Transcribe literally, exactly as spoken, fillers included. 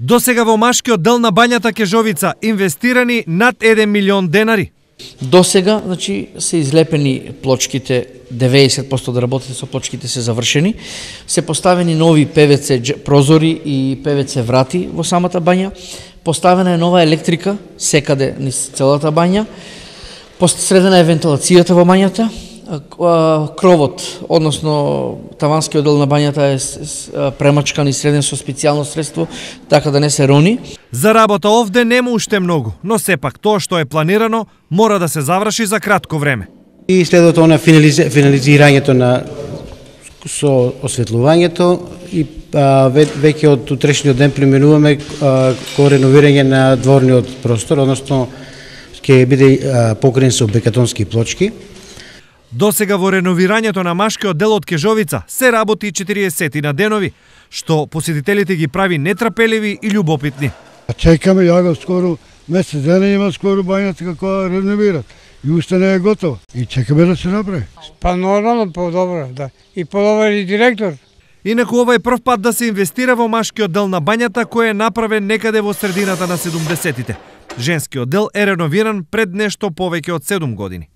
До сега во машкиот дел на бањата Кежовица инвестирани над еден милион денари. До сега, значи, се излепени плочките, деветдесет проценти од работите со плочките се завршени, се поставени нови Пе Ве Це прозори и Пе Ве Це врати во самата бања, поставена е нова електрика секаде низ целата бања, посредена е вентилацијата во бањата, кровот, односно таванскиот дел на бањата е премачкан и среден со специјално средство, така да не се рони. За работа овде нема уште многу, но сепак тоа што е планирано мора да се заврши за кратко време. И следува тоа на финализирањето на со осветлувањето и а, веќе од утрешниот ден преминуваме а, ко реновирање на дворниот простор, односно ќе биде а, покриен со бекатонски плочки. До сега во реновирањето на машкиот дел од Кежовица се работи четириесет на денови, што посетителите ги прави нетрпеливи и љубопитни. Чекаме ја скоро месец дена има скоро бањата како реновират и уште не е готово и чекаме да се направи. Па нормално подобро, да. И подобар и директор. Инаку ова е прв пат да се инвестира во машкиот дел на бањата кој е направен некаде во средината на седумдесетите. Женскиот дел е реновиран пред нешто повеќе од седум години.